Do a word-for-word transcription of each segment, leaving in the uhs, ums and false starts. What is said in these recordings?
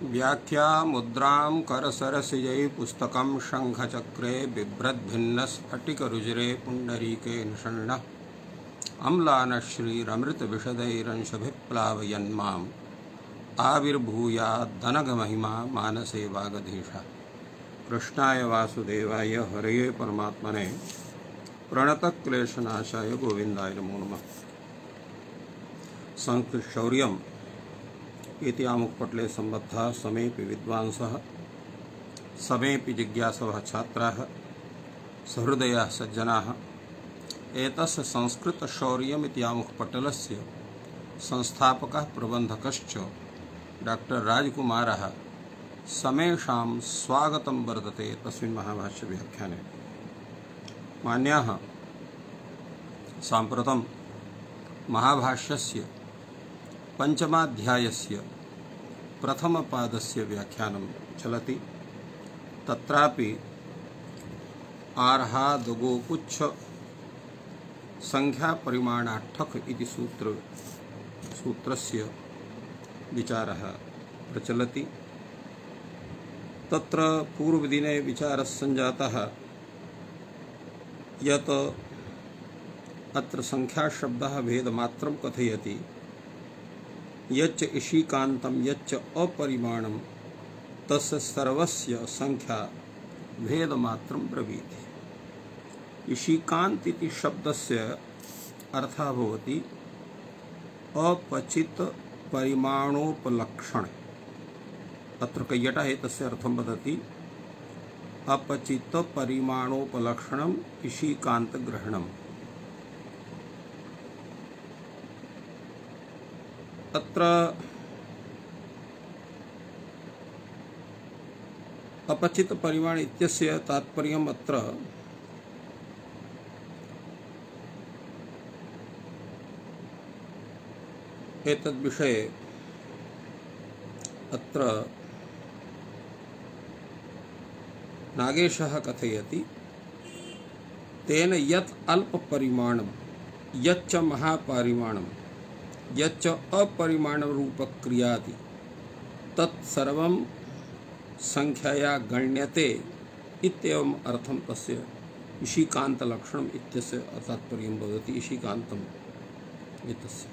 व्याख्या मुद्रां करसरसिजै पुस्तकं शंखचक्रे बिभ्रद्भिन्नस्फटिकरुजिरे पुण्डरीके निषण्णः अम्लानश्रीरमृतविशदैरंशभिप्लावयन्माम् आविर्भूयादनघमहिमा मानसे वागधीशः। कृष्णाय वासुदेवाय हरये परमात्मने प्रणतक्लेशनाशाय गोविन्दाय नमो नमः। संस्कृतशौर्यम् इति आमुखपटले सम्बद्धः समेऽपि विद्वांसः समेऽपि जिज्ञासवः छात्राः सहृदयाः सज्जनाः एतस्य संस्कृतशौर्यम् इति आमुखपटलस्य संस्थापकः प्रबन्धकश्च डॉक्टर राजकुमारः समेषां स्वागतं वर्तते तस्मिन् महाभाष्यव्याख्याने। मान्याः, साम्प्रतं महाभाष्यस्य पञ्चमाध्यायस्य प्रथमपादस्य व्याख्यानं चलति। तत्रापि आर्हादगोपुच्छ संख्यापरिमाणाठक इति सूत्र सूत्रस्य विचारः प्रचलति। तत्र पूर्वदिने विचारः सञ्जातः यत् अत्र संख्याशब्दः भेदमात्रं कथयति, यच्च ईशिकान्तं यच्च अपरिमाणं तस्य सर्वस्य संख्या भेदमात्रं ब्रवीति। ईशिकान्त इति शब्दस्य अर्थः भवति अपचित परिमाणोपलक्षण। अत्र कैयटः एतस्य अर्थं वदति अपचित परिमाणोपलक्षणम् ईशिकान्तग्रहणम्। अत्र अपचित परिमाण इत्यस्य तात्पर्यम् अत्र एतद्विषये अत्र नागेशः कथयति, तेन यत् अल्पपरिमाणं यच्च महापरिमाणं यच्च अपरिमाणरूपक्रियादि तत्सर्वं संख्यया गण्यते इत्येवम् अर्थं तस्य ईशिकान्तलक्षणम् इत्यस्य तात्पर्यं भवति। ईशिकान्तम् एतस्य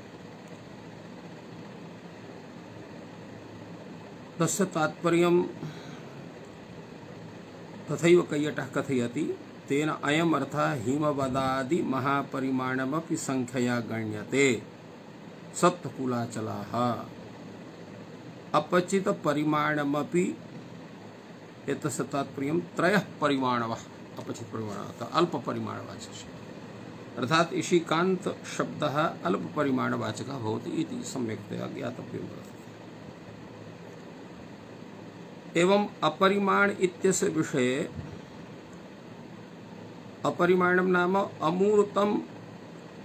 तस्य तात्पर्यं तथैव कैयटः कथयति, तेन अयम् अर्थः हिमवदादि महापरिमाणमपि संख्यया गण्यते सप्तकुलाचलाः। अपचित परिमाणमपि एतस्य तात्पर्यं त्रयः परिमाणवः अपचित परिमाणः अल्प परिमाणवाचकः, अर्थात ईशिकान्त शब्दः अल्प परिमाणवाचकः भवति इति सम्यक्तया ज्ञातव्यं वर्तते। एवं अपरिमाण इत्यस्य विषये अपरिमाणं नाम अमूर्तम्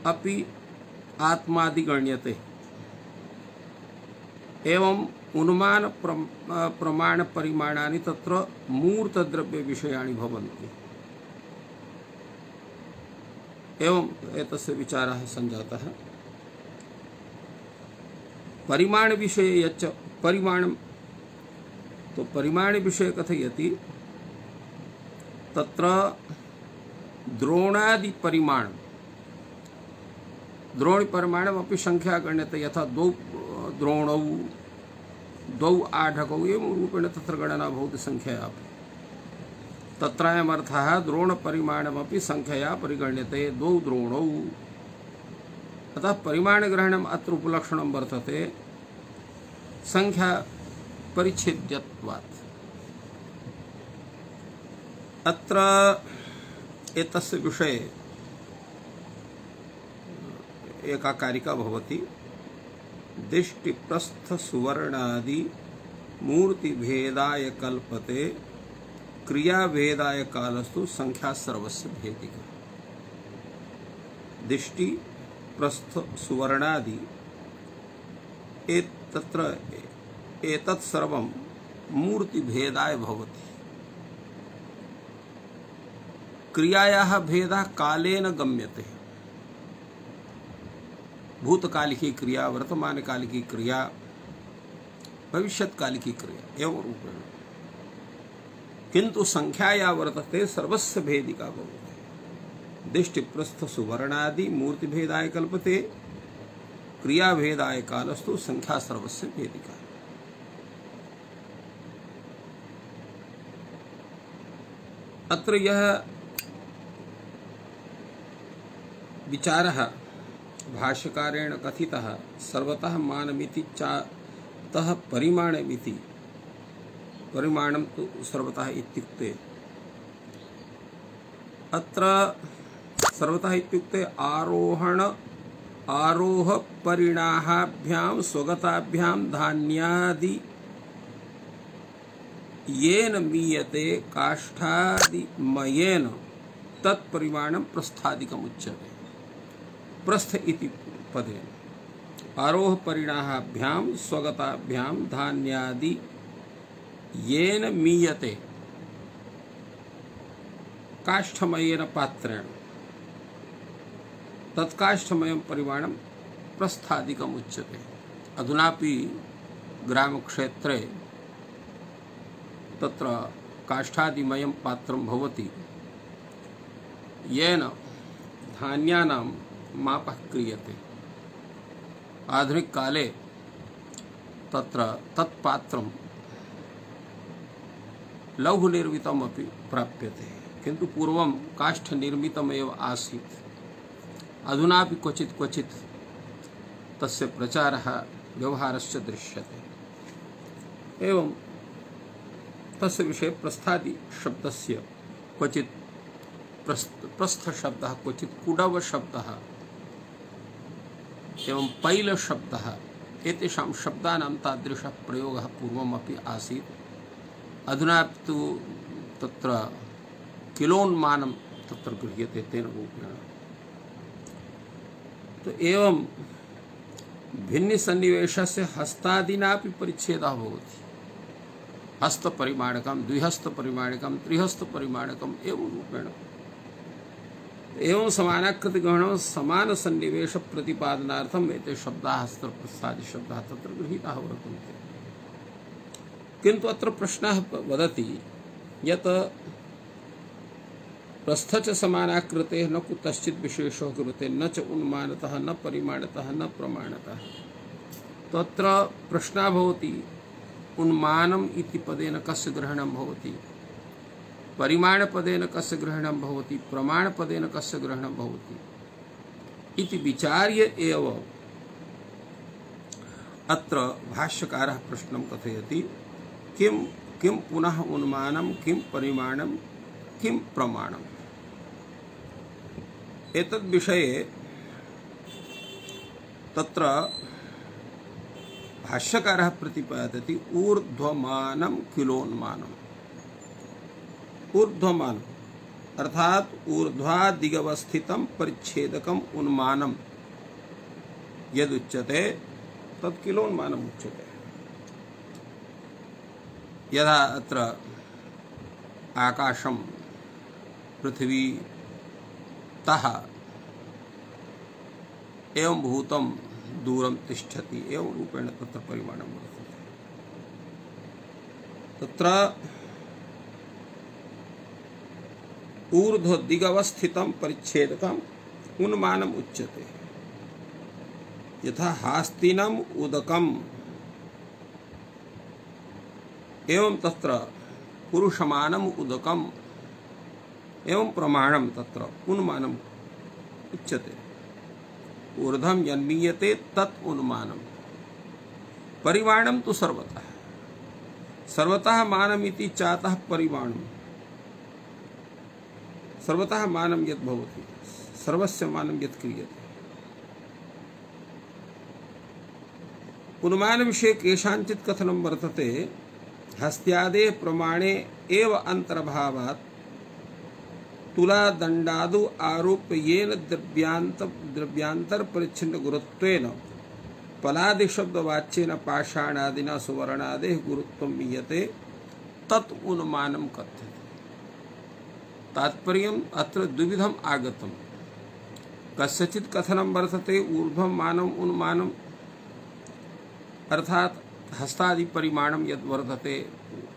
अपि आत्मादि गण्यते। एवं उन्मान प्रमाण परिमाणानि तत्र मूर्तद्रव्य विषयाणि भवन्ति। एवं एतस्य विचारः सञ्जातः। परिमाण विषये यच्च परिमाणं, तो परिमाण विषय कथयति, तत्र द्रोणादि परिमाण द्रोणी परिमाणमपि संख्या गण्यते। यथा द्वौ द्रोणौ द्वौ आढकौ एवं रूपेण तत्र गणना भवति संख्यया। तत्रायम् अर्थः द्रोणपरिमाणमपि संख्यया परिगण्यते द्वौ द्रोणौ। अतः परिमाणग्रहणम् अत्र उपलक्षणं वर्तते संख्या परिच्छेद्यत्वात्। अत्र एतस्य विषये एका कारिका भवति, दिष्टिप्रस्थ सुवर्णादि मूर्तिभेदाय कल्पते क्रियाभेदाय कालस्तु संख्या सर्वस्य भेदिका। दिष्टि प्रस्थ सुवर्णादि एतत्र एतत् सर्वं मूर्तिभेदाय भवति। क्रियायाः भेदः कालेन गम्यते। भूतकालिकी क्रिया, वर्तमानकालिकी क्रिया, भविष्यत्कालिकी क्रिया एवं रूपेण, किंतु संख्याया वर्तते सर्वस्य भेदिका भवति। दिष्टिप्रस्थ सुवर्णादि मूर्तिभेदाय कल्पते, क्रियाभेदाय कालस्तु संख्या सर्वस्य भेदिका। अत्र यह विचारः भाष्यकारेण कथितः सर्वतः मानमिति चातः परिमाणमिति, परिमाणं तु सर्वतः इत्युक्ते अत्र सर्वतः इत्युक्ते आरोहण आरोह परिणाहाभ्यां स्वगताभ्यां धान्यादि येन मीयते काष्ठादिमयेन तत्परिमाणं प्रस्थादिकम् उच्यते। प्रस्थ इति पदेन आरोह परिणाहाभ्यां स्वगताभ्यां धान्यादि येन मीयते काष्ठमयेन पात्रेण तत्काष्ठमयं परिमाणं प्रस्थादिकम् उच्यते। अधुनापि ग्रामक्षेत्रे तत्र काष्ठादिमयं पात्रं भवति, येन धान्यानां मापः क्रियते। आधुनिक काले तत्र तत्पात्रं लौह निर्मितमपि प्राप्यते, किन्तु पूर्वं काष्ठनिर्मितमेव आसीत्। अधुनापि क्वचित् क्वचित् तस्य प्रचारः व्यवहारश्च दृश्यते। एवं तस्य विषये प्रस्थादि शब्दस्य क्वचित् प्रस्थ प्रस्थ शब्दः, क्वचित् कुडव शब्दः एवं पैल शब्दः, एतेषां शब्दानां तादृशः प्रयोगः पूर्वमपि आसीत्। अधुना तु तत्र किलोन्मानं तत्र गृह्यते तेन रूपेण। तो एवं भिन्नसन्निवेशस्य हस्तादिनापि परिच्छेदः भवति। हस्तपरिमाणकं, द्विहस्तपरिमाणकं, त्रिहस्तपरिमाणकम् एवं रूपेण। एवं समानाकृतिग्रहणं समानसन्निवेश प्रतिपादनार्थम् एते शब्दाः हस्तप्रस्थादि शब्दाः तत्र गृहीताः वर्तन्ते। किन्तु अत्र प्रश्नः वदति यत् प्रस्थ च समानाकृतेः न कुतश्चित् विशेषो कृते न च उन्मानतः न परिमाणतः न प्रमाणतः। तत्र प्रश्नः भवति उन्मानम् इति पदेन कस्य ग्रहणं भवति, परिमाणपदेन कस्य ग्रहणं भवति, प्रमाणपदेन कस्य ग्रहणं भवति इति विचार्य एव अत्र भाष्यकारः प्रश्नं कथयति। किं किं पुनः उन्मानं, किं परिमाणं, किं प्रमाणम्। एतद् विषये तत्र भाष्यकारः प्रतिपादयति ऊर्ध्वमानं किलोन्मानम्। ऊर्ध्वमान अर्थात ऊर्ध्वादिगवस्थितं परिच्छेदकम् उन्मानं यदुच्यते तत् किलोन्मानम् उच्यते। यदा अत्र आकाशं पृथ्वी तः एवं भूतं दूरं तिष्ठति एवं रूपेण तत्र परिमाणं वर्तते। तत्र ऊर्ध्वदिगवस्थितं परिच्छेदकम् उन्मानम् उच्यते। यथा हास्तिनम् उदकम् एवं तत्र पुरुषमानम् उदकम् एवं प्रमाणं तत्र उन्मानम् उच्यते। ऊर्ध्वं यन्मीयते तत् उन्मानम्। परिमाणं तु सर्वतः सर्वतः मानमिति चातः परिमाणम्। सर्वतः मानं यद् भवति, सर्वस्य मानं यत् क्रियते। उन्मान विषये केषाञ्चित् कथनं वर्तते। हस्त्यादेः प्रमाणे एव अंतर्भावात् तुलादण्डादौ आरोप्य येन द्रव्यांत द्रव्यांतर परिच्छिन्न गुरुत्वेन पलादि शब्दवाच्येन पाषाणादिना सुवर्णादेः गुरुत्वं मीयते तत् उन्मानं कथ्यते। तात्पर्यम् अत्र द्विविधम् आगतम्। कस्यचित् कथनं वर्तते ऊर्ध्वं मानम् उन्मानम्, अर्थात हस्तादि परिमाणं यद् वर्तते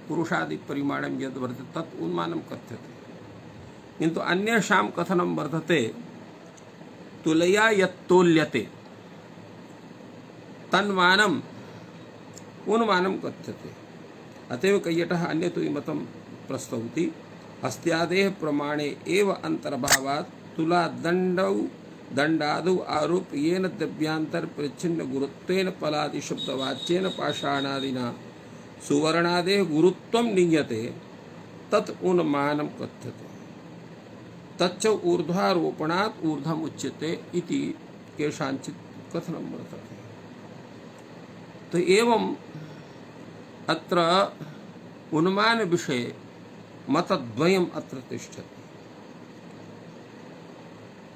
पुरुषादि परिमाणं यद् वर्तते तत् उन्मानं कथ्यते। किन्तु अन्येषां कथनं वर्तते तुलया यत् तोल्यते तन्मानम् उन्मानं कथ्यते। अतएव कैयटः अन्यतो मतं प्रस्तौति अस्त्यादेः प्रमाणे एव अंतर्भावात् तुला दंडौ दंडादौ आरोप येन द्रव्यांतर परिच्छिन्न गुरुत्वेन पलादि शब्दवाच्येन पाषाणादिना सुवर्णादेः गुरुत्वं नीयते तत् उन्मानं कथ्यते। तच्च ऊर्ध्वारोपणात् ऊर्ध्वम् उच्यते इति केषाञ्चित् कथनं वर्तते। तो एवं अत्र उन्मान विषये मतद्वयम् अत्र तिष्ठति।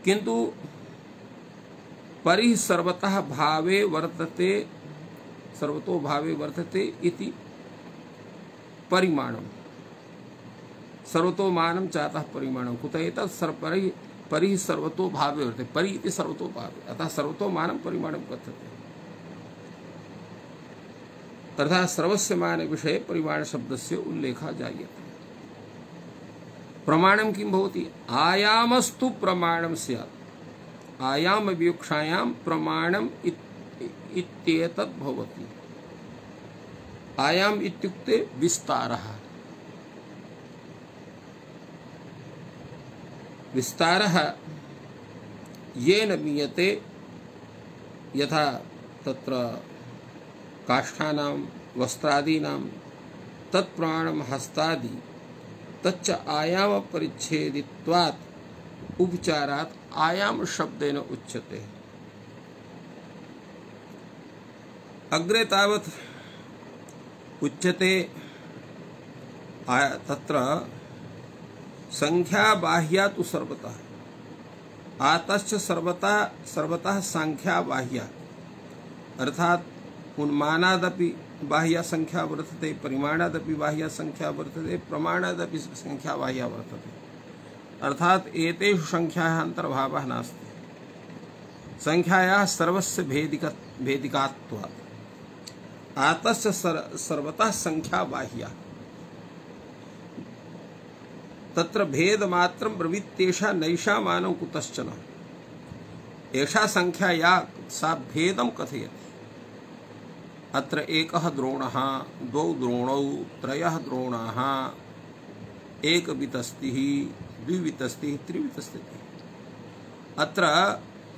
किन्तु परिः सर्वतः भावे वर्तते सर्वतो भावे वर्तते इति परिमाणम् सर्वतो मानं चातः परिमाणं कुत एतत् सर्वपरिः परिः सर्वतो भावे वर्तते परि इति सर्वतो भावे अतः सर्वतो मानं परिमाणं कथ्यते। अर्थात् सर्वस्य मान विषये परिमाण शब्दस्य उल्लेखः जायते। प्रमाणं किं भवति आयामस्तु प्रमाणं स्यात् आयाम विवक्षायां प्रमाणम् इत्येतत् भवति। आयाम इत्युक्ते विस्तारः विस्तारः येन मीयते यथा तत्र काष्ठानां वस्त्रादीनां तत्प्रमाणं हस्तादि तच्च आयाम परिच्छेदित्वात् उपचारात् आयाम शब्देन उच्यते। अग्रे तावत् उच्यते तत्र संख्या बाह्या तु सर्वतः आतश्च सर्वतः सर्वतः संख्या बाह्या अर्थात उन्मानादपि बाह्या संख्या वर्तते परिमाणादपि बाह्या संख्या वर्तते प्रमाणादपि संख्या बाह्या वर्तते। अर्थात एतेषु संख्यायाः अंतर्भावः नास्ति। संख्यायाः सर्वस्य भेदिक भेदिकात्वात् आतस्य सर्वतः संख्या बाह्या तत्र भेदमात्रं ब्रवीत्येषा नैषा मानं कुतश्चन एषा संख्या या सा भेदं कथयति। अत्र एकः द्रोणः द्वौ द्रोणौ त्रयः द्रोणाः एकवितस्तिः द्विवितस्तिः त्रिवितस्तिः अत्र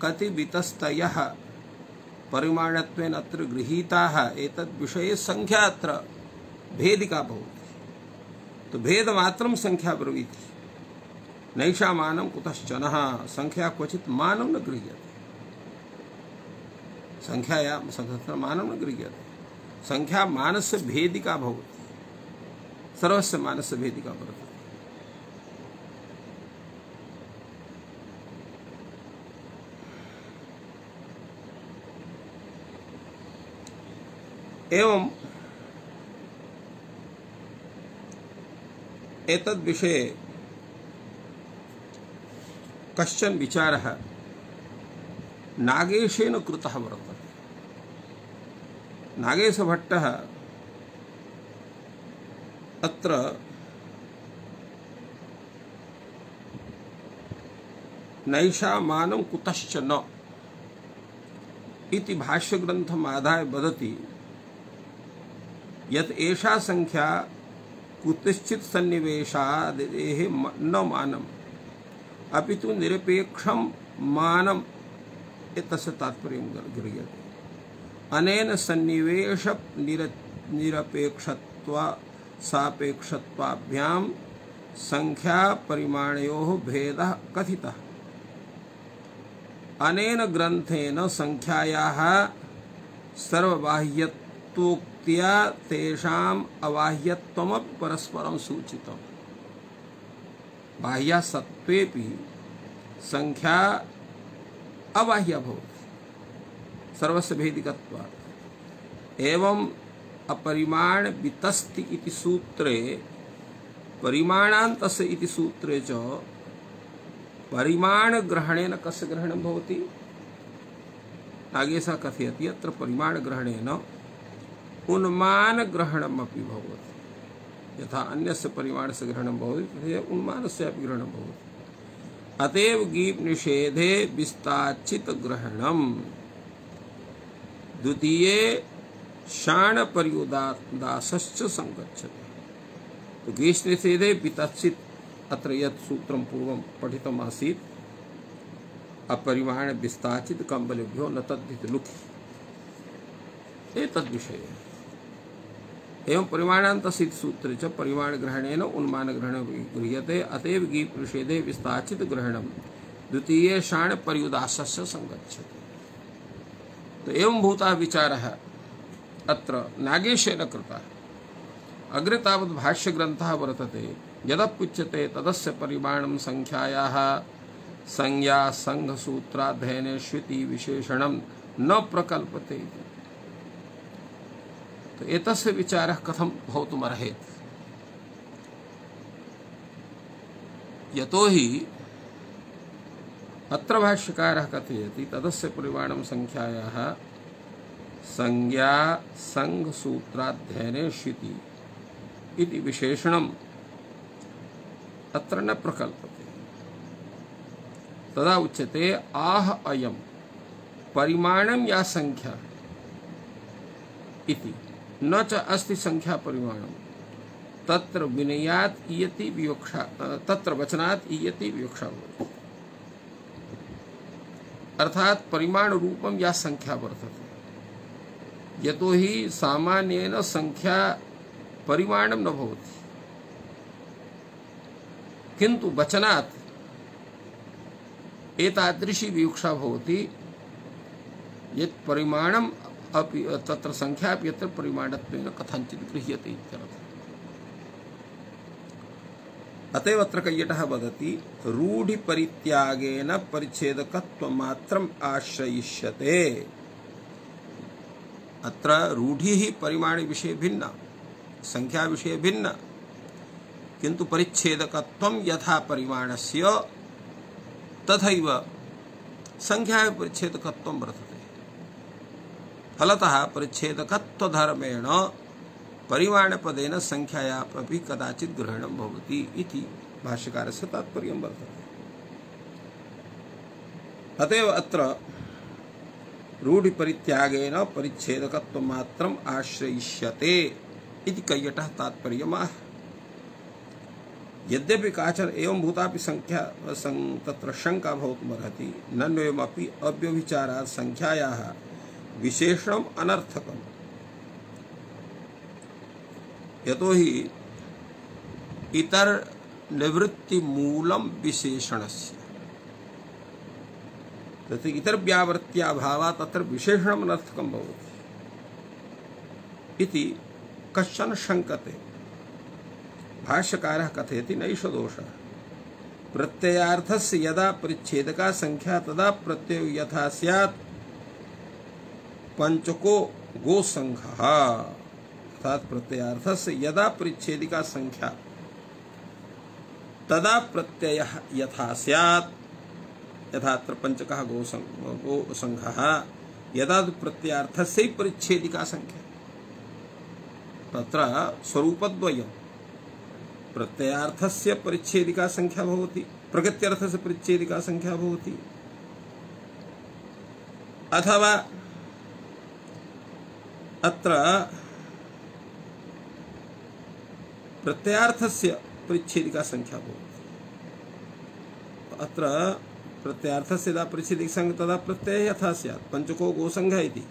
कति वितस्तयः परिमाणत्वेन अत्र गृहीताः एतद् विषये संख्या अत्र भेदिका भवति। तो भेदमात्रं संख्या ब्रवीति नैषा मानं कुतश्चनः संख्या क्वचित् मानं न गृह्यते। संख्याया संख्या मानं न गृह्यते। संख्या मानस्य भेदिका भवति सर्वस्य मानस्य भेदिका वर्तते। एवं एतद् विषये कश्चन विचारः नागेशेन कृतः वर्तते। नागेशभट्टः अत्र नैषा मानं कुतश्च न इति भाष्यग्रन्थम् आदाय वदति यत् एषा संख्या कुतश्चित् सन्निवेशादेः न मानम् अपितु निरपेक्षं मानम् एतस्य तात्पर्यं गृह्यते। अनेन सन्निवेश निरपेक्षत्व सापेक्षत्वाभ्यां संख्या परिमाणयोः भेदः कथितः। अनेन ग्रन्थेन संख्यायाः सर्वबाह्यत्वोक्त्या तेषाम् अबाह्यत्वमपि परस्परं सूचितम्। बाह्या सत्त्वेपि संख्या अबाह्या भवति सर्वस्य भेदिकत्वात्। एवं अपरिमाण वितस्ति इति सूत्रे परिमाणान्तस्य इति सूत्रे च परिमाण ग्रहणेन कस्य ग्रहणं भवति? नागेशः कथयति अत्र परिमाण ग्रहणेन उन्मान ग्रहणमपि भवति। यथा अन्यस्य परिमाणस्य ग्रहणं भवति तथैव उन्मानस्य अपि ग्रहणं भवति। अतएव गीप निषेधे विस्ताचित ग्रहणम द्वितीये शाण पर्युदासश्च संगच्छति। तो गीष निषेधे विताचित अत्र यत् सूत्रं पूर्वं पठितम् आसीत् अपरिमाण विस्ताचित कम्बलेभ्यो न तद्धित लुखि एतद् विषये एवं परिमाणान्तसित सूत्रे च परिमाण ग्रहणेन उन्मान ग्रहणं गृह्यते। अतएव गीप निषेधे विस्ताचित ग्रहणं द्वितीये शाण पर्युदासस्य संगच्छति। तो एवं भूतः विचारः अत्र नागेशेन कृतः। अग्रे तावत् भाष्यग्रन्थः वर्तते यदप्युच्यते तदस्य परिमाणं संख्यायाः संज्ञा संघसूत्राध्ययने श्रुति विशेषणं न प्रकल्पते। तो एतस्य विचारः कथं भवितुमर्हेत्? यतोहि अत्र भाष्यकारः कथयति तदस्य परिमाणं संख्यायाः संज्ञा संघसूत्राध्ययने श्रुति इति विशेषणम् अत्र न प्रकल्पते। तदा उच्यते आह अयं परिमाणं या संख्या इति न च अस्ति संख्या परिमाणं तत्र विनयात् इयति विवक्षा तत्र वचनात् इयति विवक्षा भवति। अर्थात परिमाण रूपम या संख्या वर्तते। यतोहि सामान्येन संख्या परिमाणं न भवति किन्तु वचनात् एतादृशी विवक्षा भवति यत् परिमाणम् अपि तत्र संख्या अपि यत्र परिमाणत्वेन कथञ्चित् गृह्यते इत्यर्थः। अतएव अत्र कैयटः वदति रूढि परित्यागेन परिच्छेदकत्वमात्रम् आश्रयिष्यते। अत्र रूढिः परिमाण विषये भिन्ना संख्या विषये भिन्ना किन्तु परिच्छेदकत्वं यथा परिमाणस्य तथैव संख्या परिच्छेदकत्वं वर्तते। फलतः परिच्छेदकत्वधर्मेण परिमाणपदेन संख्यायापि कदाचित् ग्रहणं भवति इति भाष्यकारस्य तात्पर्यं वर्तते। अतएव अत्र रूढिपरित्यागेन परिच्छेदकत्वमात्रम् आश्रयिष्यते इति कैयटः तात्पर्यमाह। यद्यपि काचन एवं भूतापि संख्या तत्र शंका भवितुमर्हति नन्वेमपि अव्यभिचारात् संख्यायाः विशेषणम् अनर्थकम्। यतोहि इतर निवृत्ति मूलम विशेषणस्य तत् इतर व्यावृत्त्याभावात् तत्र विशेषणम् अनर्थकं भवति इति कश्चन शंकते। भाष्यकारः कथयति नैष दोषः प्रत्ययार्थस्य यदा परिच्छेदका संख्या तदा प्रत्ययो यथा स्यात् पंचको गोसंघः। अर्थात प्रत्ययार्थस्य यदा परिच्छेदिका संख्या तदा प्रत्ययः यथा स्यात् यथात्र पंचकः गोसंघः यदा प्रत्ययार्थस्य परिच्छेदिका संख्या तत्र स्वरूपद्वयम् प्रत्ययार्थस्य परिच्छेदिका संख्या भवति प्रगत्यर्थस्य परिच्छेदिका संख्या भवति अथवा अत्र प्रत्ययार्थस्य परिच्छेदिका संख्या भवति। अत्र प्रत्ययार्थस्य यदा परिच्छेदिका संख्या तदा प्रत्ययः यथा स्यात् पंचको गोसंघः इति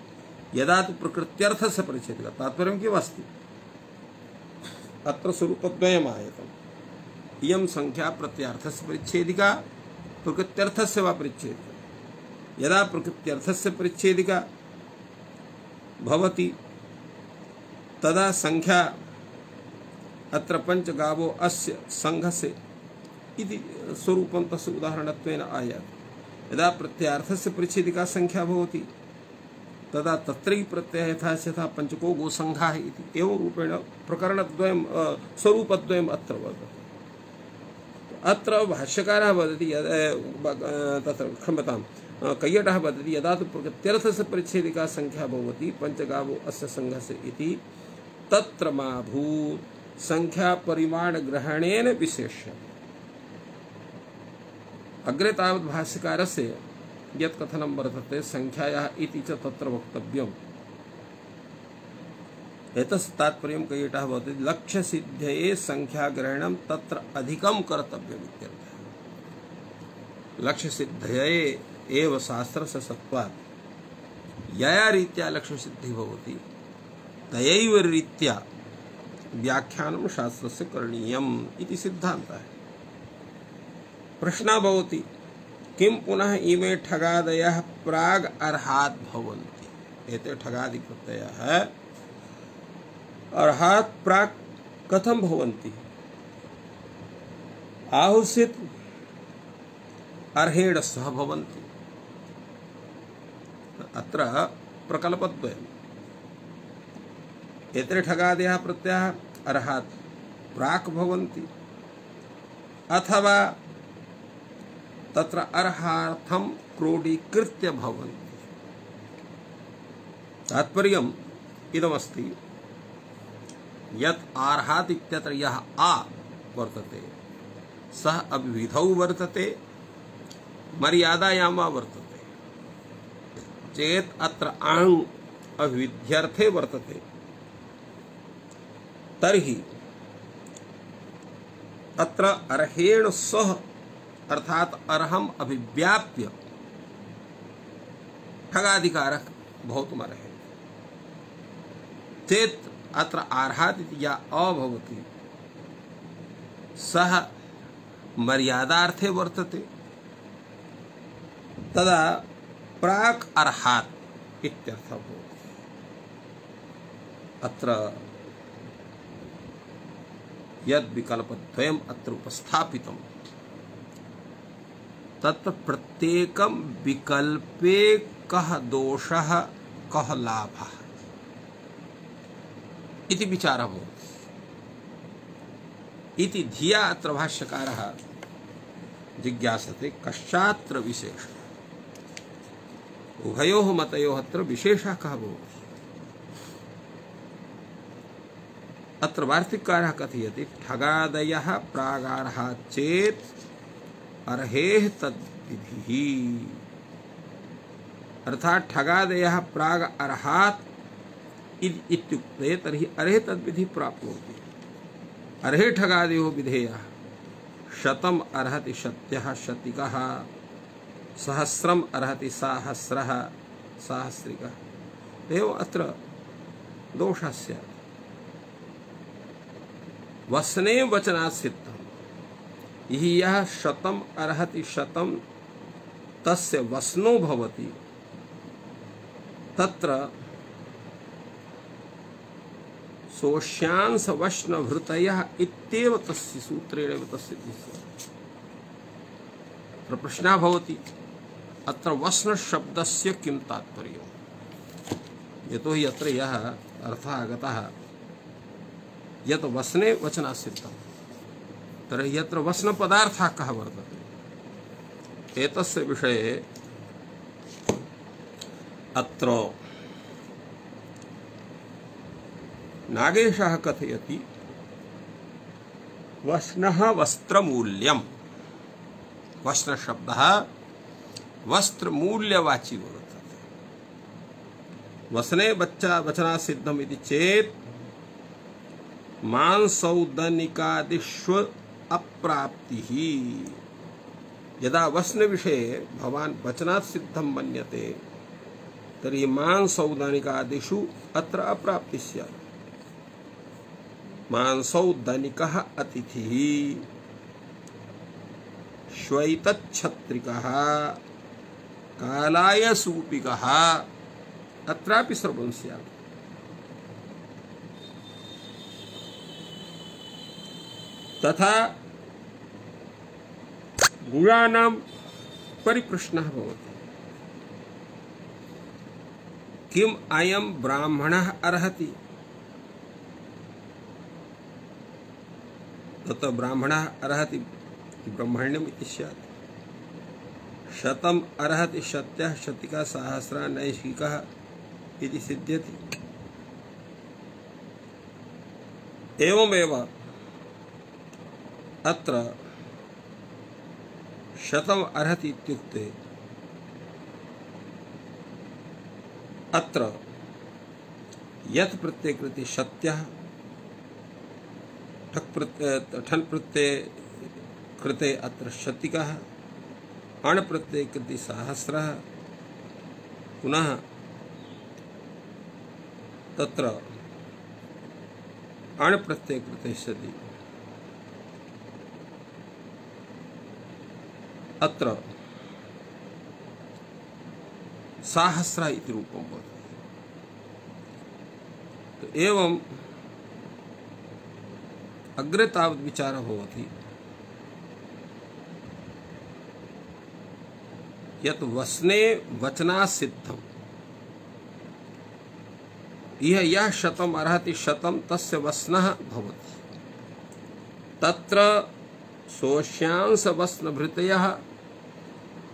यदा तु प्रकृत्यर्थस्य परिच्छेदिका तात्पर्यं किम् अस्ति अत्र स्वरूपद्वयम् आयतम्। इयं संख्या प्रत्ययार्थस्य परिच्छेदिका प्रकृत्यर्थस्य वा परिच्छेदिका यदा प्रकृत्यर्थस्य परिच्छेदिका भवति तदा संख्या अत्र पंचगावो अस्य संघस्य इति स्वरूपं तस्य उदाहरणत्वेन आयाति। यदा प्रत्ययार्थस्य परिच्छेदिका संख्या भवति तदा तत्रैव प्रत्ययः यथा यथा पंचको गोसंघः इति एवं रूपेण प्रकरणद्वयं स्वरूपद्वयम् अत्र वर्तते। अत्र भाष्यकारः वदति तत्र क्षम्यताम् कैयटः वदति यदा तु प्रकृत्यर्थस्य परिच्छेदिका संख्या भवति पंचगावो अस्य संघस्य इति तत्र मा भूत् संख्या परिमाण ग्रहणेन विशेष्य। अग्रे तावत् भाष्यकारस्य यत् कथनं वर्तते संख्यायाः इति च तत्र वक्तव्यम्। एतस्य तात्पर्यं कैयटः भवति लक्ष्य सिद्धये संख्या ग्रहणं तत्र अधिकं कर्तव्यम् इत्यर्थः। लक्ष्य सिद्धये एव शास्त्रस्य सत्त्वात् यया रीत्या लक्ष्य सिद्धि भवति तयैव रीत्या व्याख्यानं शास्त्रस्य करणीयम् इति सिद्धान्तः। प्रश्नः भवति किं पुनः इमे ठगादयः प्राग् अर्हात् भवन्ति। एते ठगादि प्रत्ययाः अर्हात् प्राक् कथं भवन्ति। आहुषित् अर्हेण सह भवन्ति। अत्र प्रकल्पद्वयम्। एते ठगादयः प्रत्ययाः अर्हात् प्राक् भवन्ति अथवा तत्र अर्हार्थं क्रोडीकृत्य भवन्ति। तात्पर्यम् इदमस्ति यत् अर्हात् इत्यत्र यः आ वर्तते सः अविधौ वर्तते मर्यादायां वा वर्तते। चेत् अत्र आङ् अविध्यर्थे वर्तते तर्हि अत्र अर्हेण सह अर्थात अर्हम अभिव्याप्य ठगाधिकारक भवतुमर्हे। चेत् अत्र अर्हात् इति या अभवति सः मर्यादार्थे वर्तते तदा प्राक् अर्हात् इत्यर्थः भवति। अत्र यद् विकल्पद्वयम् अत्र उपस्थापितम् तत्र प्रत्येकं विकल्पे कः दोषः कः लाभः इति विचारः भवति। इति धिया अत्र भाष्यकारः जिज्ञासते कश्चात्र विशेषः। उभयोः मतयोः अत्र विशेषः कः भवति। अत्र वार्तिककारः कथयति ठगादयः प्रागार्हात् चेत् अर्हेः तद्विधिः। अर्थात् ठगादयः प्राग अर्हात् इत्युक्ते तर्हि अर्हे तद्विधिः प्राप्नोति। अर्हे ठगादयो विधेयः शतम् अर्हति शत्यः शतिकः सहस्रम् अर्हति साहस्रः साहस्रिकः। एवम् अत्र दोषः स्यात्। वसने वचनात् सिद्धम्। हि यः शतम् अर्हति शतं तस्य वसनो भवति तत्र सोष्यांश वश्नभृतयः इत्येव तस्य सूत्रेण तस्य अत्र प्रश्नः भवति अत्र वस्न शब्दस्य किं तात्पर्यम्। यतो हि अत्र यः अर्थः आगतः यत् वसने वचनात् सिद्धम् तर्हि यत्र वसन पदार्थः कः वर्तते एतस्य विषये अत्र नागेशः कथयति वस्नः वस्त्रमूल्यम्। वस्न शब्दः वस्त्रमूल्यवाची वर्तते। वसने बच्चा वचनात् सिद्धम् इति चेत् मांसौदनिकादिष्व अप्राप्तिः। यदा वस्न विषये भवान् वचनात् सिद्धं मन्यते तर्हि मांसौदनिकादिषु अत्र अप्राप्तिः स्यात्। मांसौदनिकः अतिथिः श्वैतच्छत्रिकः कालायसूपिकः अत्रापि सर्वं स्यात्। तथा गुणानां परिप्रश्नः भवति किम् अयं ब्राह्मणः अर्हति। तत् ब्राह्मणः अर्हति ब्रह्मण्यम् इति स्यात्। शतम अर्हति शत्यः शतिका सहस्रा नैशिकः इति सिद्ध्यति। एवमेव अत्र शतम अर्हति इत्युक्ते अत्र यत् प्रत्यय कृते शत्यः ठक् प्रत्यय ठन् प्रत्यय कृते अत्र शतिकः अण् प्रत्यय कृते सहस्रः पुनः तत्र अण् प्रत्यय कृते सति अत्र सहस्र इति रूपं भवति। तो एवं अग्रे तावत् विचारः भवति यत् वसने वचना सिद्धम् इह यः शतम् अर्हति शतं तस्य वसनः भवति। तत्र सोष्यांश वसनभृतयः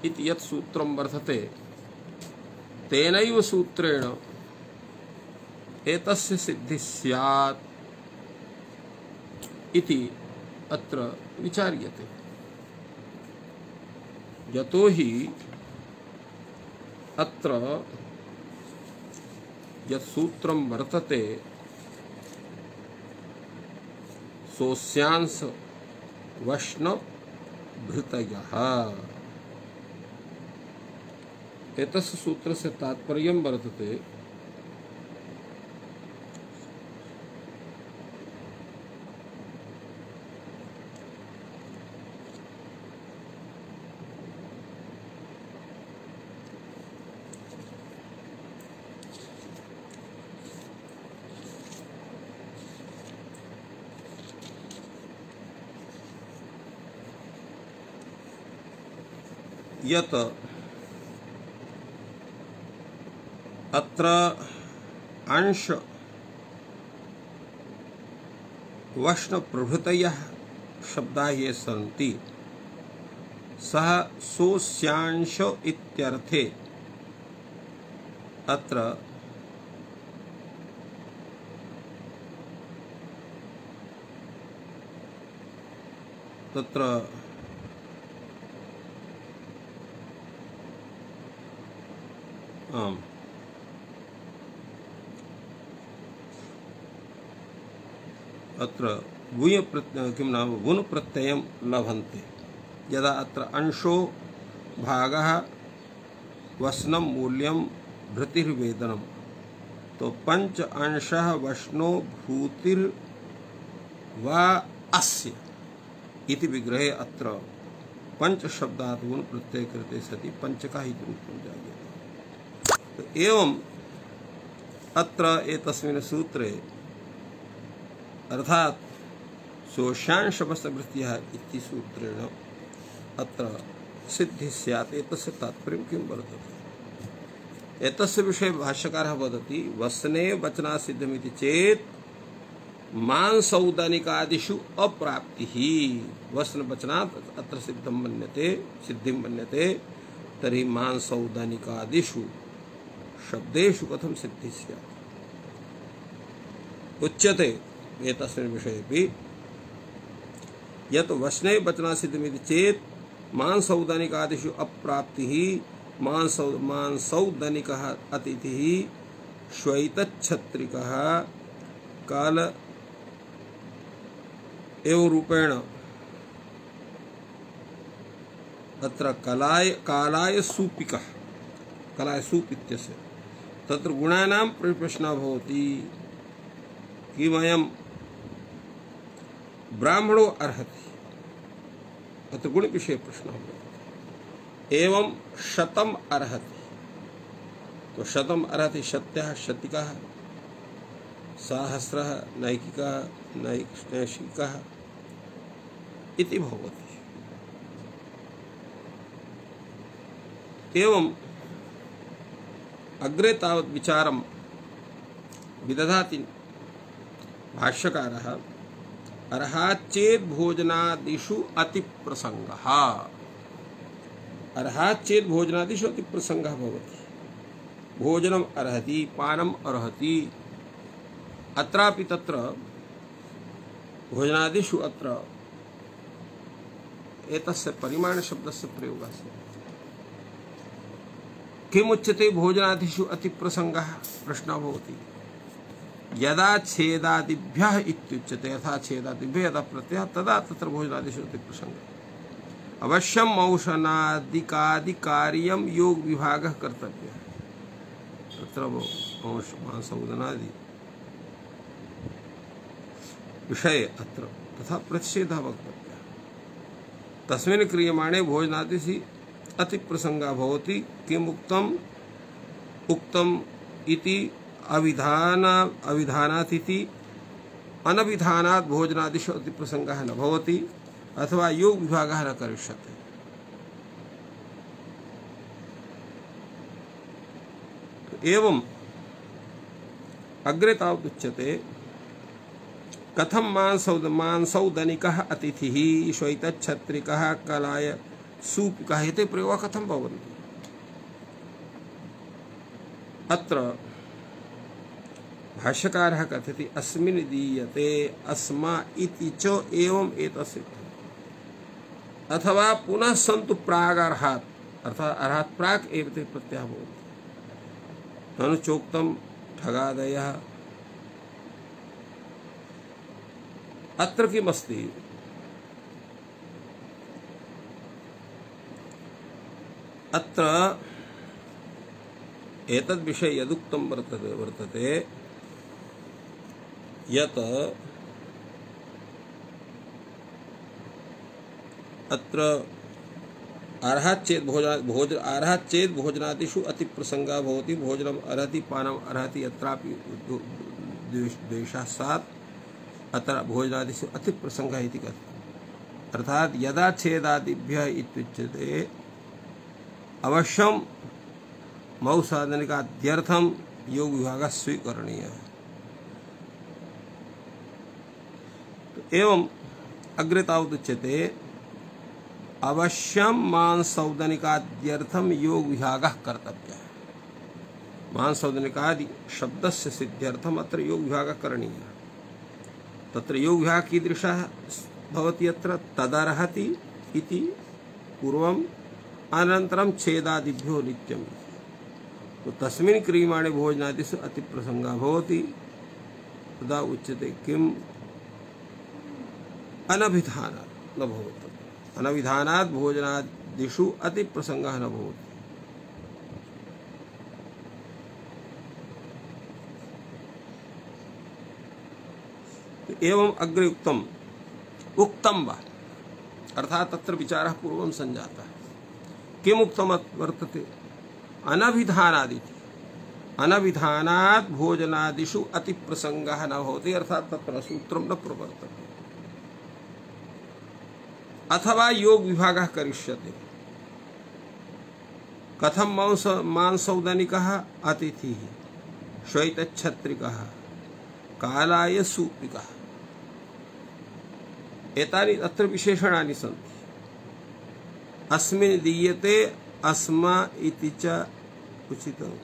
इति यत् सूत्रं वर्तते तेनैव सूत्रेण एतस्य सिद्धिः स्यात् इति अत्र विचार्यते। यतो हि अत्र यत् सूत्रं वर्तते सोस्यांश वष्णभृतयः एतस्य सूत्रस्य तात्पर्यं वर्तते यत् अत्र अंश वष्ण प्रभृतयः शब्दाः ये सन्ति सः सोस्यांश इत्यर्थे अत्र तत्र आम् अत्र वुय प्रत्यय किं नाम वुन् प्रत्ययं लभन्ते यदा अत्र अंशो भागः वसनं मूल्यं भृतिर्वेदनं तो पंच अंशः वष्णो भूतिर् वा अस्य इति विग्रहे अत्र पंच शब्दात् वुन् प्रत्यय कृते सति पंचकः इति रूपं जायते। तो एवं अत्र एतस्मिन् सूत्रे अर्थात सोष्यांश वसनभृतयः इति सूत्रेण अत्र सिद्धिः स्यात्। एतस्य तात्पर्यं किं वर्तते एतस्य विषये भाष्यकारः वदति वसने वचना सिद्धमिति चेत् मांसौदानिकादिषु अप्राप्तिः वसन वचनात् अत्र सिद्धं मन्यते सिद्धिं मन्यते तर्हि मांसौदानिकादिषु शब्देषु कथं सिद्धिः स्यात् उच्यते। एतस्मिन् विषयेपि यत् वसने वचना सिद्धमिति चेत् मांसौदानिकादिषु अप्राप्तिः मांसौ मांसौदानिकः अतिथिः श्वैतच्छत्रिकः काल एव रूपेण अत्र कलाय कालाय सूपिकः कलाय सूप इत्यस्य तत्र गुणानां प्रश्नः भवति किमयं ब्राह्मणो अर्हति अत्र गुण विषय प्रश्नः भवति। एवं शतम अर्हति तो शतम अर्हति शत्यः शतिकः सहस्रः नैकिकः नैशिकः इति भवति। एवं अग्रे तावत् विचारं विदधाति भाष्यकारः अर्हाच्चेत् भोजनादिषु अतिप्रसंगः अर्हात् चेत् भोजनादिषु अति प्रसंगः भवति। भोजनम् अर्हति, पानम् अर्हति। अत्रापि तत्र भोजनादिषु अत्र एतस्य परिमाण शब्दस्य प्रयोगः अस्ति। किमुच्यते भोजनादिषु अति प्रसंगः? प्रश्नः भवति। यदा छेदादिभ्यः इत्युच्यते, यथा छेदादिभ्यः यदा प्रत्ययः तदा तत्र भोजनादिषु अति प्रसंगः। अवश्यं मौषणादिकादिकार्यं योग विभागः कर्तव्यः। तत्र मौष मांसौदनादि विषये अत्र तथा प्रतिषेधः वक्तव्यः। तस्मिन् क्रियमाणे भोजनादिषु अति प्रसंगः भवति। किमुक्तम्? उक्तम् इति अविधान अविधानातिथि अनविधानात् भोजनादिषु अति प्रसंगः न भवति अथवा योग विभागः न करिष्यते। एवं अग्रे तावदुच्यते कथं मांसौद मांसौदनिकः अतिथिः श्वैतच्छत्रिकः कलाय सूपिकः इति प्रयोगः कथं भवन्ति? अत्र भाष्यकारः कथयति अस्मिन् दीयते अस्मा इति च एवं एतस्य अथवा पुनः सन्तु प्रागर्हात् अर्थात् अर्हात् प्राक् एव ते प्रत्ययः भवति। ननु चोक्तं ठगादयः। अत्र किमस्ति? अत्र एतद् विषये यदुक्तं वर्तते वर्तते यत् अत्र अर्हात् चेत् भोजन भोज अर्हात् चेत् भोजनादिषु अति प्रसंगः भवति। भोजनम् अर्हति, पानम् अर्हति, यत्रापि द्वेषः स्यात् अत्र भोजनादिषु अति प्रसंगः इति कथ्यते। अर्थात् यदा छेदादिभ्यः इत्युच्यते अवश्यं मौसादनिकाद्यर्थं योग विभागः स्वीकरणीयः। एवं अग्रे तावदुच्यते अवश्यं मांसौदनिकाद्यर्थं योग विभागः कर्तव्यः। मांसौदनिकादि शब्दस्य सिद्ध्यर्थम् अत्र योग विभागः करणीयः। तत्र योग विभागः कीदृशः भवति? अत्र तदर्हति इति पूर्वम्, अनन्तरं छेदादिभ्यो नित्यम्। तो तस्मिन् क्रियमाणे भोजनादिषु अति प्रसंगः भवति। तदा उच्यते किम्? अनभिधानात् न भवति। अनविधानात् भोजनादिषु अति प्रसंगः न भवति। एवं अग्रे उक्तम् उक्तं वा अर्थात् तत्र विचारः पूर्वं संजातः। किम् उक्तं वर्तते? अनभिधानादिति अनविधानात् भोजनादिषु अति प्रसंगः न भवति। अर्थात् तत्र सूत्रं न प्रवर्तते अथवा योग विभागः करिष्यते। कथं मांस मांसौदनिकः अतिथिः श्वैतच्छत्रिकः कालाय सूपिकः। एतानि अत्र विशेषणानि सन्ति। अस्मिन् दीयते अस्मा इति च उचितम्।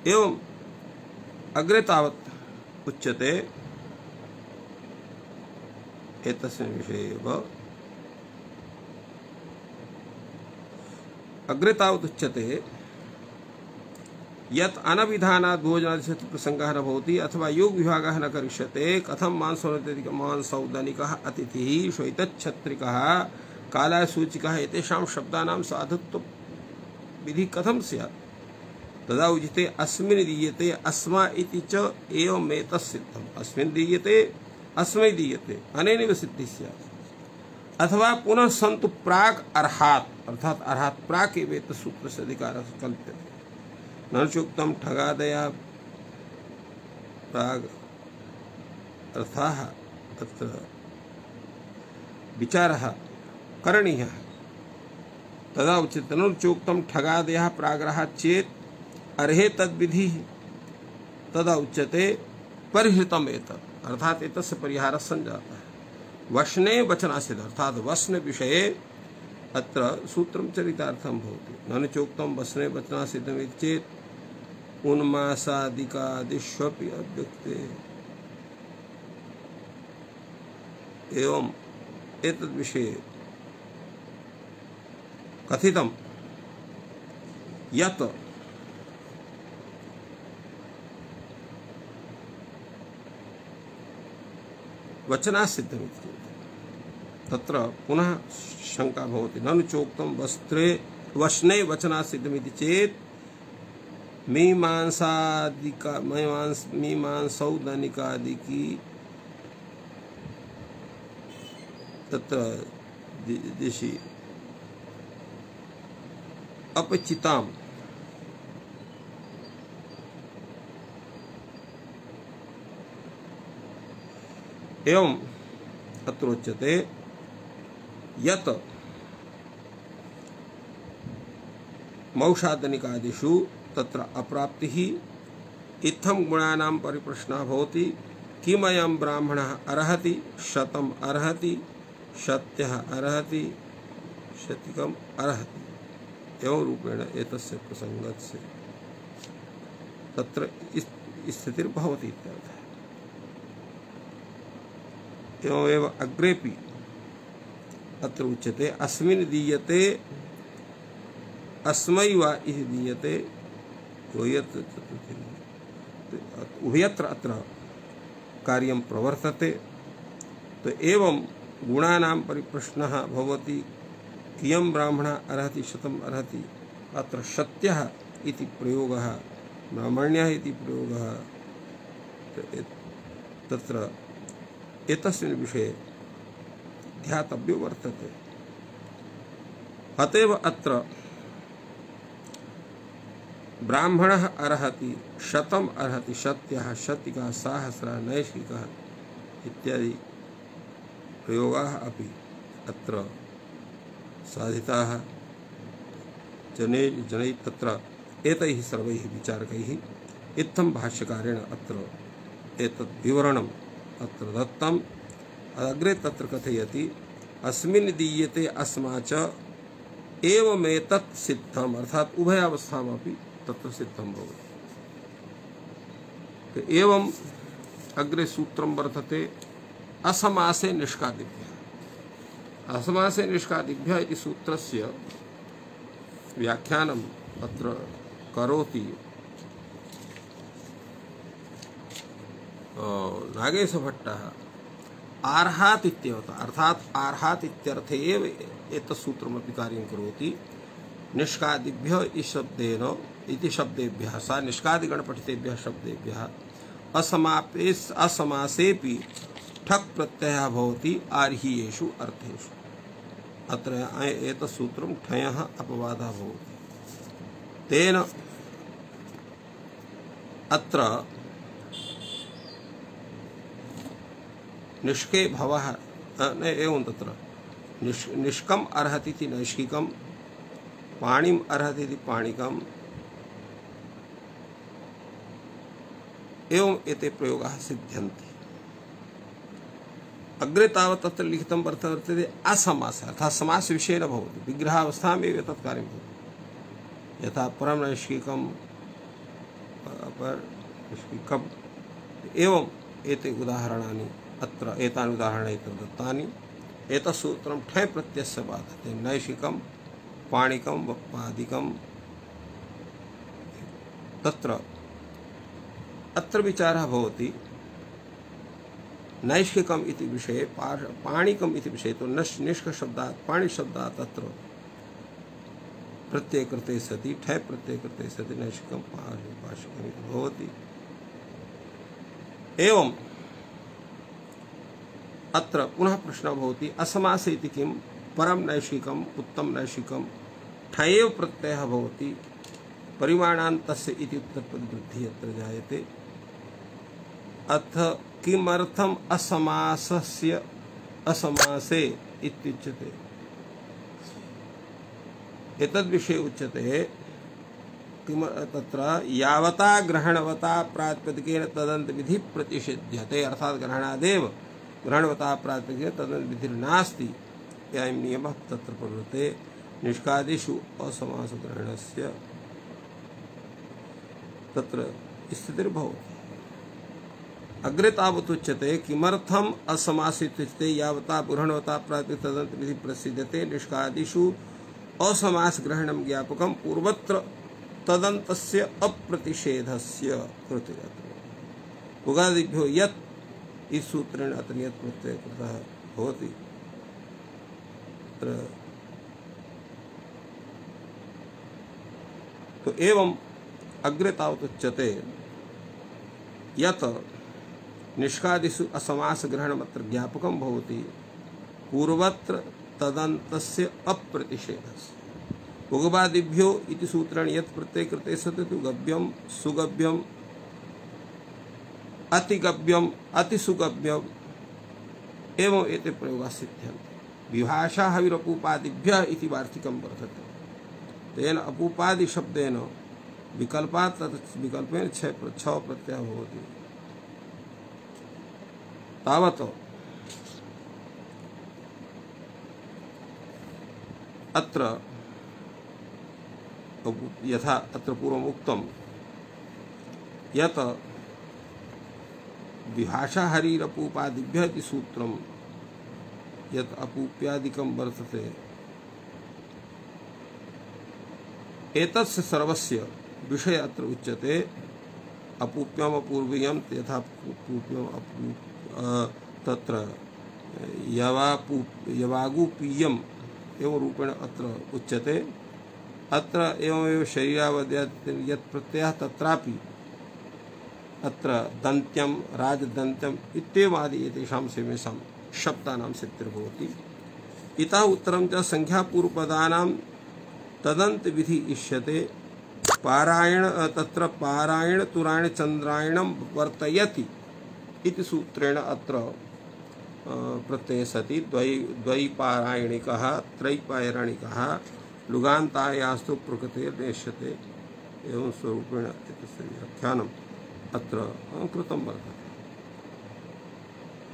एवं अग्रे तावत् उच्यते एतस्मिन् विषये एव अग्रे तावत् उच्यते यत् अनविधानात् भोजनादिषु प्रसंगः न भवति अथवा योग विभागः न करिष्यते। कथं मांसौदनिकः अतिथिः श्वैतच्छत्रिकः कालाय सूचिकः एतेषां शब्दानां साधुत्व विधि कथं स्यात्? तदा उच्यते अस्मिन् दीयते अस्मा इति च एवम् एतत्सिद्धम्। अस्मिन् दीयते अस्मै दीयते अनेनैव सिद्धिः स्यात्। अथवा पुनः सन्तु प्राक् अर्हात् अर्थात् अर्हात् प्राक् एव एतत् सूत्रस्य अधिकारः कल्प्यते। न चोक्तं ठगादयः प्राग् अर्थाः तत्र विचारः करणीयः। तदा उच्यते न चोक्तं ठगादयः प्राग्रहात् चेत् अर्हे तद्विधिः। तदा उच्यते परिहृतम् एतत् अर्थात् एतस्य परिहारः संजातः। वशने वचनासिद्ध अर्थात वसन विषये अत्र सूत्रं चरितार्थं भवति। ननु चोक्तं वसने वचनासिद्धम् इति चेत् उन्मासादिकादिष्वपि अव्यक्ते। एवं एतद् विषये कथितं यत् वचनासिद्धमिति तत्र पुनः शंका भवति। ननु चोक्तं वस्त्रे वशने वचनासिद्धमिति चेत् मीमांसादिका मीमांस मीमांसौदनिकादिकी तत्र दिशि अपचिताम् एवं अत्र उच्यते यत् मौषादनिकादिषु तत्र अप्राप्तिः इत्थं गुणानां परिप्रश्नः भवति। किमयं ब्राह्मणः अर्हति शतम् अर्हति शत्यः अर्हति शतिकम् अर्हति। एवं रूपेण एतस्य प्रसंगस्य तत्र स्थितिर्भवति इत्यर्थः। एवमेव अग्रेपि अत्र उच्यते अस्मिन् दीयते अस्मै वा इति दीयते उभयत्र अत्र कार्यं प्रवर्तते। तो एवं गुणानां परिप्रश्नः भवति। कियं ब्राह्मणः अर्हति शतम् अर्हति अत्र शत्यः इति प्रयोगः ब्राह्मण्यः इति प्रयोगः तत्र एतस्मिन् विषये ध्यातव्यो वर्तते। अतएव अत्र ब्राह्मणः अर्हति शतम् अर्हति शत्यः शतिका सहस्रः नैष्ठिकः इत्यादि प्रयोगाः अपि अत्र साधिताः जने जनैः तत्र एतैः सर्वैः विचारकैः इत्थं भाष्यकारेण अत्र एतत् विवरणम् अत्र दत्तम्। अग्रे तत्र कथयति अस्मिन् दीयते अस्मा च एवमेतत् सिद्धम् अर्थात उभयावस्थामपि तत्र सिद्धं भवति। तो एवं अग्रे सूत्रं वर्तते असमासे निष्कादिभ्यः। असमासे निष्कादिभ्यः इति सूत्रस्य व्याख्यानम् अत्र करोति नागेशभट्टः आर्हात् इत्येव अर्थात आर्हात् इत्यर्थे एव एतत् सूत्रमपि कार्यं करोति। निष्कादिभ्यः इति शब्देन इति शब्देभ्यः सा निष्कादिगणपठितेभ्यः शब्देभ्यः असमापेस् असमासेपि ठक् प्रत्ययः भवति आर्हीयेषु अर्थेषु। अत्र एतत् सूत्रं ठयः अपवादः भवति। तेन अत्र निष्के भवः न एवं तत्र निष् निष्कम् अर्हति इति नैष्किकम् पाणिम् अर्हति इति पाणिकम् एवं एते प्रयोगाः सिद्ध्यन्ति। अग्रे तावत् तत्र लिखितं वर्तते असमासः अर्थात् समास विषये न भवति विग्रहावस्थामेव एतत् कार्यं भवति। यथा परं नैष्किकम् अपर नैष्किकम् एवं एते उदाहरणानि अत्र एतानि उदाहरणानि दत्तानि। एतत् सूत्रं ठय प्रत्ययस्य बाधते नैष्किकं पाणिकं वप्पादिकं। तत्र अत्र विचारः भवति नैष्किकम् इति विषये पाणिकम् इति विषये तो नश् निष्क शब्दात् पाणि शब्दात् अत्र प्रत्यय कृते सति ठय प्रत्यय कृते सति नैष्किकं पाणिपाशिकम् इति भवति। एवं अत्र पुनः प्रश्नः भवति असमासे इति किं परम नैष्किकम् उत्तम नैष्किकम् ठयेव प्रत्ययः भवति परिमाणान्तस्य इति उत्तरपदवृद्धिः अत्र जायते। अथ किमर्थम् असमासस्य असमासे इत्युच्यते। एतद्विषये उच्यते किम तत्र यावता ग्रहणवता प्रातिपदिकेन तदन्त विधि प्रतिषिध्यते अर्थात ग्रहणादेव ग्रहणवता प्रातिपदिके तदन्त विधिर्नास्ति अयं नियमः तत्र प्रवृत्ते निष्कादिषु असमासग्रहणस्य तत्र स्थितिर्भवति। अग्रे तावत् उच्यते किमर्थम् असमासित्युच्यते यावता ग्रहणवता प्रातिपदिके तदन्त विधि प्रसिद्धते निष्कादिषु असमासग्रहणं ज्ञापकं पूर्वत्र तदन्तस्य अप्रतिषेधस्य कृते उगादिभ्यो यत् इस सूत्रेण अत्र यत् प्रत्यय कृतः भवति तो एवं अग्रे तावत् उच्यते यत् निष्कादिषु असमास ग्रहणमत्र ज्ञापकं भवति पूर्वत्र तदन्तस्य अप्रतिषेधस्य उगवादिभ्यो इति सूत्रेण यत् प्रत्यय कृते सति तु गव्यं सुगव्यं अतिगव्यम अतिसुगव्यम एवं एते प्रयोगाः सिद्ध्यन्ते। विभाषा हविरपूपादिभ्यः इति वार्तिकं वर्तते। तेन अपूपादि शब्देन विकल्पात् तत् विकल्पेन छ छ प्रत्ययः भवति। तावत् अत्र यथा अत्र पूर्वम् उक्तं यत् विभाषा हरिरपूपादिभ्यः इति सूत्रं यत् अपूप्यादिकं वर्तते एतस्य सर्वस्य विषय अत्र उच्यते। अपूप्यम अपूर्वीयम यथा अपूप्यम अपू तत्र यवापू यवागुपीयम एवं रूपेण अत्र उच्यते। अत्र एवमेव शरीरावद्यात् यत् प्रत्ययः तत्रापि अत्र दन्त्यम राजदन्त्यम इत्येवादि एतेषां सेवेषां शब्दानां सिद्धिर्भवति। इतः उत्तरं च संख्यापूर्वपदानां तदन्त विधि इष्यते। पारायण तत्र पारायण तुरायण चन्द्रायणं वर्तयति इति सूत्रेण अत्र प्रत्यये सति द्वै द्वैपारायणिकः त्रैपारायणिकः लुगान्तायास्तु प्रकृतिर्नेष्यते एवं स्वरूपेण एतस्य व्याख्यानम् अत्र कृतं वर्तते।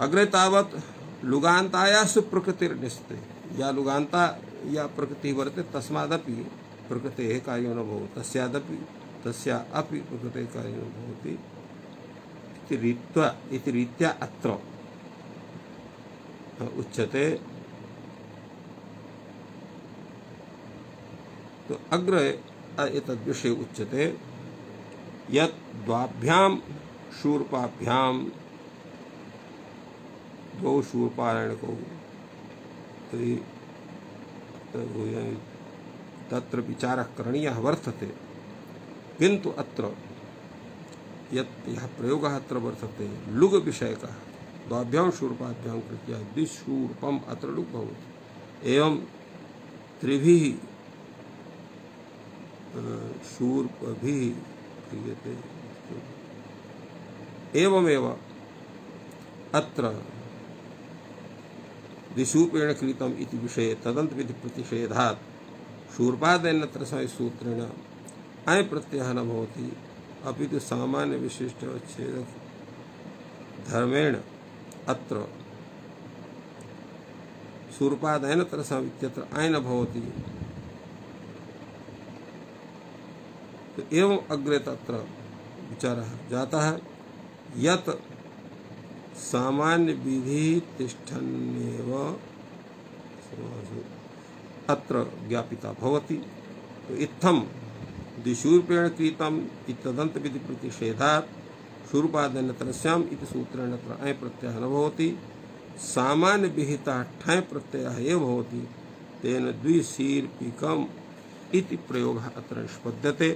अग्रे तावत् लुगान्तायास्तु प्रकृतिर्निष्यते या लुगान्ता या प्रकृतिः वर्तते तस्मादपि प्रकृतेः कार्यं न भवति तस्यादपि तस्या अपि प्रकृतेः कार्यं न भवति इति रीत्या इति रीत्या अत्र उच्यते। तो अग्रे एतद्विषये उच्यते यत् द्वाभ्यां शूर्पाभ्यां द्वौ शूर्पारायणकौ तत्र विचारः करणीयः वर्तते। किन्तु अत्र यत् यः प्रयोगः अत्र वर्तते लुग् विषयकः द्वाभ्यां शूर्पाभ्यां कृत्या द्विशूर्पम् अत्र लुग् भवति। एवं त्रिभिः शूर्पभिः क्रियते। एवमेव अत्र द्विशूर्पेण कृतम् इति विषये तदन्त विधि प्रतिषेधात् शूर्पादेनत्र सूत्रेण अय प्रत्ययः न भवति अपितु सामान्य विशिष्ट अच्छेद धर्मेण अत्र शूर्पादेनत्र इत्यत्र अय न भवति। तो एवं अग्रे तत्र विचारः जातः यत् सामान्य विधि तिष्ठन्नेव अत्र ज्ञापिता भवति। तो इत्थं द्विशूर्पेण कृतम् इत्यदन्त विधि प्रतिषेधात् शूर्पादेनतरस्याम् इति सूत्रेण अत्र अय प्रत्ययः न भवति। सामान्य विहितः ठञ् प्रत्ययः एव भवति। तेन द्विशीर्पिकम् इति प्रयोगः अत्र निष्पद्यते।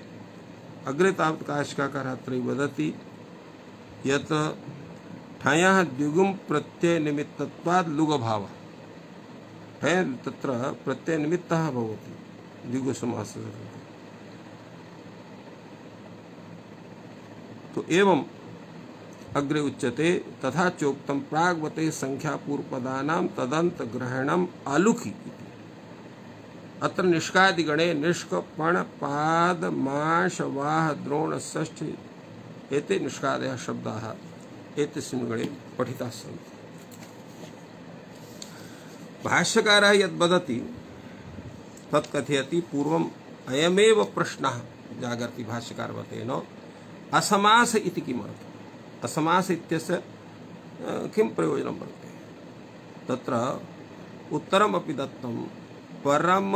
अग्रे तावत् काशिकाकारः अत्र वदति यत् ठञः द्विगुं प्रत्यय निमित्तत्वात् लुगभावः ठञ् तत्र प्रत्यय निमित्तः भवति द्विगु समासः। तो एवं अग्रे उच्यते तथा चोक्तं प्राग्वते संख्यापूर्वपदानां तदन्त ग्रहणम् आलुखि इति। अत्र निष्कादिगणे निष्क पण पाद माश वाह द्रोण षष्ठी एते निष्कादयः शब्दाः एतस्मिन् गणे पठिताः सन्ति। भाष्यकारः यद् वदति तत् कथयति पूर्वम् अयमेव प्रश्नः जागर्ति भाष्यकारवतेन असमास इति किमर्थम् असमास इत्यस्य किं प्रयोजनं वर्तते तत्र उत्तरमपि दत्तं परम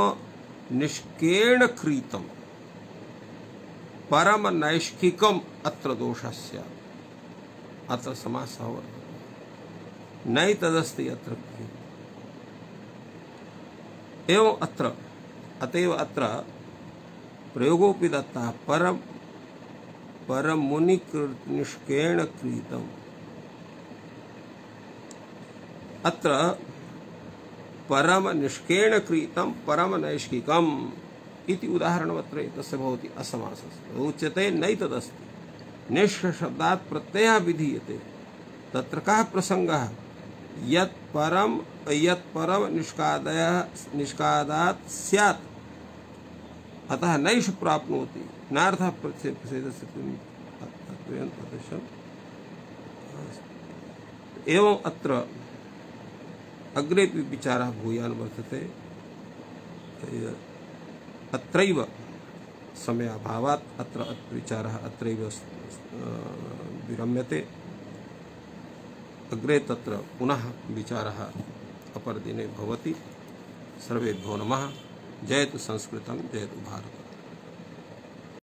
निष्केण क्रीतं परम नैष्किकम् अत्र दोषः स्यात् अत्र समासः वर्तते नै तदस्ति अत्र एवं अत्र अतएव अत्र प्रयोगोपि दत्तः परम परम मुनि निष्केण क्रीतम् अत्र परम निष्केण क्रीतं परम नैष्किकम् इति उदाहरणमत्र एतस्य भवति असमासस्य उच्यते नैतदस्ति निष्कशब्दात् प्रत्ययः विधीयते तत्र कः प्रसङ्गः यत् परम यत् परम निष्कादयः निष्कादात् स्यात् अतः नैष प्राप्नोति नार्थः प्रच्छेदस्य एवं अत्र अग्रेपि विचारः भूयान् वर्तते अत्रैव समयाभावात् अत्र विचारः अत्रैव विरम्यते अग्रे तत्र पुनः विचारः अपरदिने भवति सर्वेभ्यो नमः जयतु संस्कृतं जयतु भारतम्।